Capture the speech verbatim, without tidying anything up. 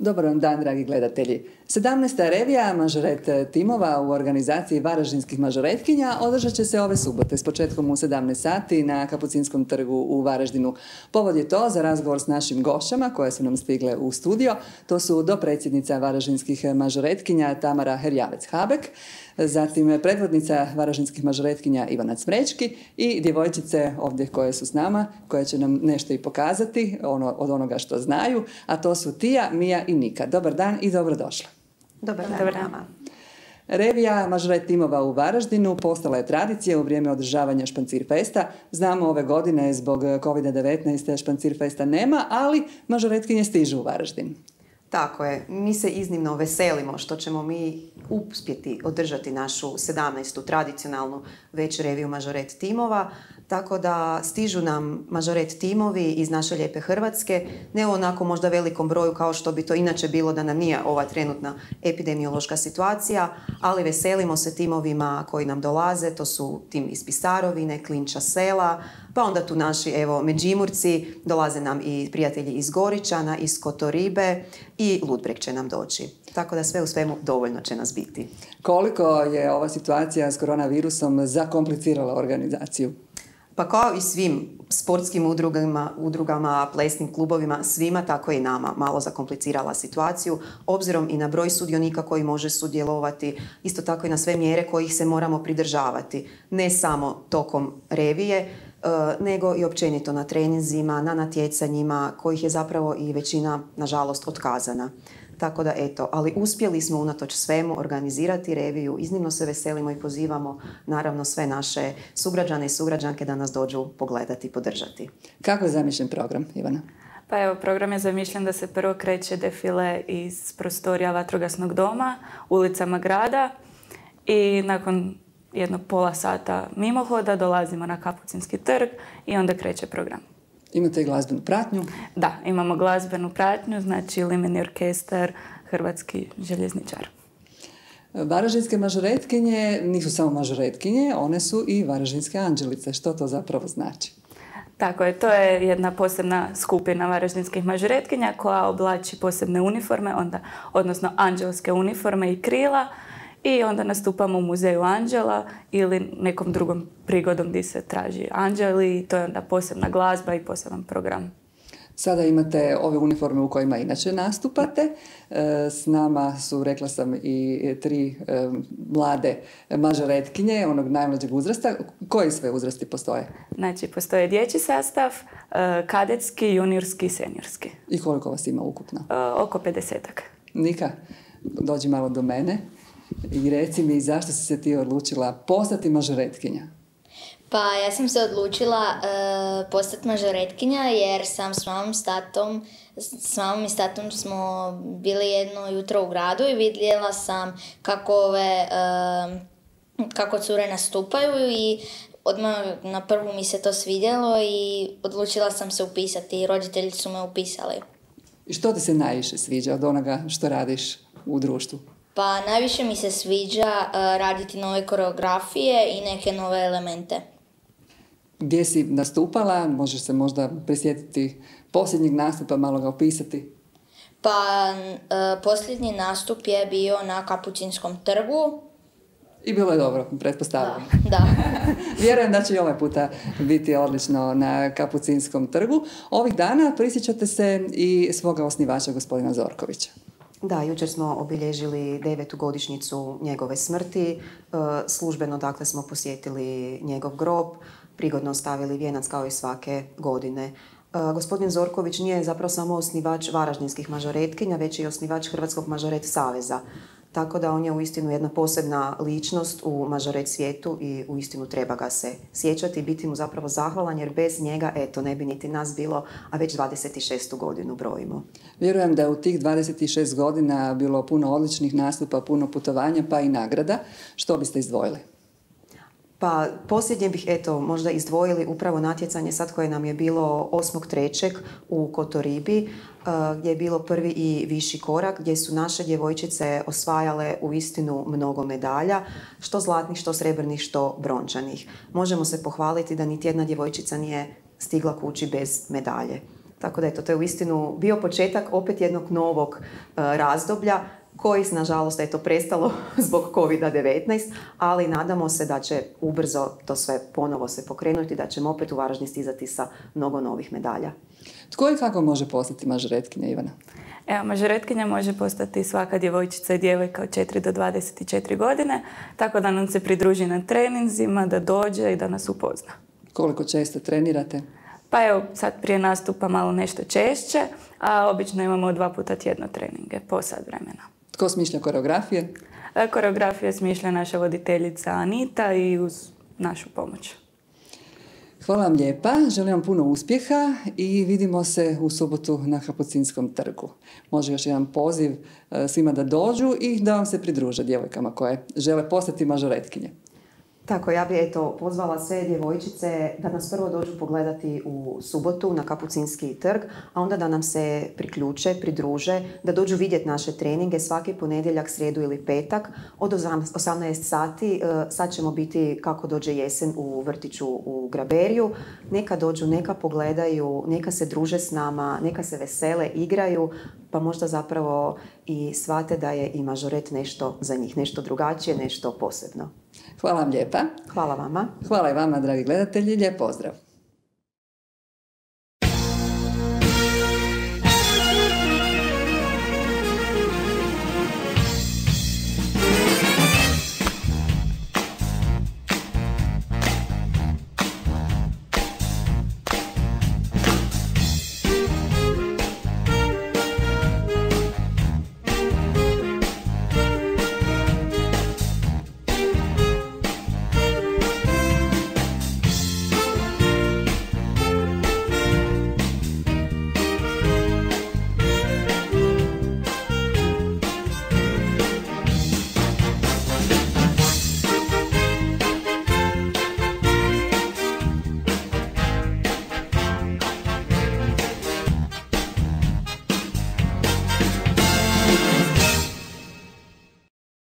Dobar vam dan, dragi gledatelji. sedamnaesta revija mažoret timova u organizaciji varaždinskih mažoretkinja održat će se ove subote s početkom u sedamnaest sati na Kapucinskom trgu u Varaždinu. Povod je to za razgovor s našim gošćama koje su nam stigle u studio. To su dopredsjednica varaždinskih mažoretkinja Tamara Herjavec-Habek, zatim predvodnica varaždinskih mažoretkinja Ivana Cmrečki i djevojčice ovdje koje su s nama, koje će nam nešto i pokazati ono, od onoga što znaju, a to su Tija, Mija i Nika. Dobar dan i dobrodošla. Dobar dan. Dobar dan. Revija mažoret timova u Varaždinu postala je tradicija u vrijeme održavanja Špancir festa. Znamo, ove godine zbog kovid devetnaest Špancir festa nema, ali mažoretkinje stižu u Varaždin. Tako je. Mi se iznimno veselimo što ćemo mi uspjeti održati našu sedamnaestu tradicionalnu već reviju mažoret timova, tako da stižu nam mažoret timovi iz naše lijepe Hrvatske, ne u onako možda velikom broju kao što bi to inače bilo da nam nije ova trenutna epidemiološka situacija, ali veselimo se timovima koji nam dolaze, to su tim iz Pisarovine, Klinča sela, pa onda tu naši, evo, Međimurci, dolaze nam i prijatelji iz Goričana, iz Kotoribe i Ludbreg će nam doći. Tako da sve u svemu dovoljno će nas biti. Koliko je ova situacija s koronavirusom zakomplicirala organizaciju? Pa kao i svim sportskim udrugama, udrugama, plesnim klubovima, svima tako i nama malo zakomplicirala situaciju, obzirom i na broj sudionika koji može sudjelovati, isto tako i na sve mjere kojih se moramo pridržavati, ne samo tokom revije, nego i općenito na treninzima, na natjecanjima, kojih je zapravo i većina, nažalost, otkazana. Tako da, eto, ali uspjeli smo unatoč svemu organizirati reviju, iznimno se veselimo i pozivamo naravno sve naše sugrađane i sugrađanke da nas dođu pogledati i podržati. Kako je zamišljen program, Ivana? Pa evo, program je zamišljen da se prvo kreće defile iz prostorija Vatrogasnog doma, ulicama grada i nakon jednog pola sata mimohoda dolazimo na Kapucinski trg i onda kreće program. Imate i glazbenu pratnju? Da, imamo glazbenu pratnju, znači Limeni orkestar, Hrvatski željezničar. Varaždinske mažoretkinje nisu samo mažoretkinje, one su i varaždinske anđelice. Što to zapravo znači? Tako je, to je jedna posebna skupina varaždinskih mažoretkinja koja oblači posebne uniforme, onda, odnosno anđelske uniforme i krila, i onda nastupamo u Muzeju anđela ili nekom drugom prigodom gdje se traži anđeli. To je onda posebna glazba i poseban program. Sada imate ove uniforme u kojima inače nastupate. S nama su, rekla sam, i tri mlade mažoretkinje onog najmlađeg uzrasta. Koji sve uzrasti postoje? Znači, postoje dječji sastav, kadetski, juniorski i seniorski. I koliko vas ima ukupno? Oko pedesetak. Nika, dođi malo do mene. I reci mi, zašto si se ti odlučila postati mažoretkinja? Pa ja sam se odlučila uh, postati mažoretkinja jer sam s mamom s tatom, s mamom i s tatom smo bili jedno jutro u gradu i vidjela sam kako ove, uh, kako cure nastupaju i odmah na prvu mi se to svidjelo i odlučila sam se upisati i roditelji su me upisali. I što ti se najviše sviđa od onoga što radiš u društvu? Pa najviše mi se sviđa uh, raditi nove koreografije i neke nove elemente. Gdje si nastupala? Možeš se možda prisjetiti posljednjeg nastupa, malo ga opisati? Pa uh, posljednji nastup je bio na Kapucinskom trgu. I bilo je dobro, pretpostavljam. Da, da. Vjerujem da će i ovaj puta biti odlično na Kapucinskom trgu. Ovih dana prisjećate se i svoga osnivača, gospodina Zorkovića. Da, jučer smo obilježili devetu godišnjicu njegove smrti. Službeno, dakle, smo posjetili njegov grob, prigodno stavili vijenac kao i svake godine. Gospodin Zorković nije zapravo samo osnivač varaždinskih mažoretkinja, već i osnivač Hrvatskog mažoret saveza. Tako da on je uistinu jedna posebna ličnost u mažoret svijetu i uistinu treba ga se sjećati i biti mu zapravo zahvalan jer bez njega, eto, ne bi niti nas bilo, a već dvadeset šestu godinu brojimo. Vjerujem da je u tih dvadeset šest godina bilo puno odličnih nastupa, puno putovanja pa i nagrada. Što biste izdvojili? Pa posljednje bih, eto, možda izdvojili upravo natjecanje sad koje nam je bilo osmog trećeg u Kotoribi, gdje je bilo prvi i viši korak, gdje su naše djevojčice osvajale uistinu mnogo medalja, što zlatnih, što srebrnih, što brončanih. Možemo se pohvaliti da niti jedna djevojčica nije stigla kući bez medalje. Tako da eto, to je uistinu bio početak opet jednog novog e, razdoblja koji, nažalost, eto, prestalo zbog kovid devetnaest, ali nadamo se da će ubrzo to sve ponovo se pokrenuti, da ćemo opet u Varaždin stizati sa mnogo novih medalja. Tko i kako može postati mažoretkinja, Ivana? Evo, mažoretkinja može postati svaka djevojčica i djevojka od četiri do dvadeset četiri godine, tako da nam se pridruži na treninzima, da dođe i da nas upozna. Koliko često trenirate? Pa evo, sad prije nastupa malo nešto češće, a obično imamo dva puta tjedno treninge, po sat vremena. Tko smišlja koreografije? Koreografije smišlja naša voditeljica Anita i uz našu pomoć. Hvala vam lijepa, želim vam puno uspjeha i vidimo se u subotu na Kapucinskom trgu. Može još jedan poziv svima da dođu i da vam se pridruže djevojkama koje žele postati mažoretkinje. Tako, ja bih eto pozvala sve djevojčice da nas prvo dođu pogledati u subotu na Kapucinski trg, a onda da nam se priključe, pridruže, da dođu vidjeti naše treninge svaki ponedjeljak, srijedu ili petak od osamnaest sati. Sad ćemo biti kako dođe jesen u vrtiću u Graberiju. Neka dođu, neka pogledaju, neka se druže s nama, neka se vesele, igraju, pa možda zapravo i shvate da je i mažoret nešto za njih, nešto drugačije, nešto posebno. Hvala vam lijepa. Hvala vama. Hvala i vama, dragi gledatelji. Lijep pozdrav.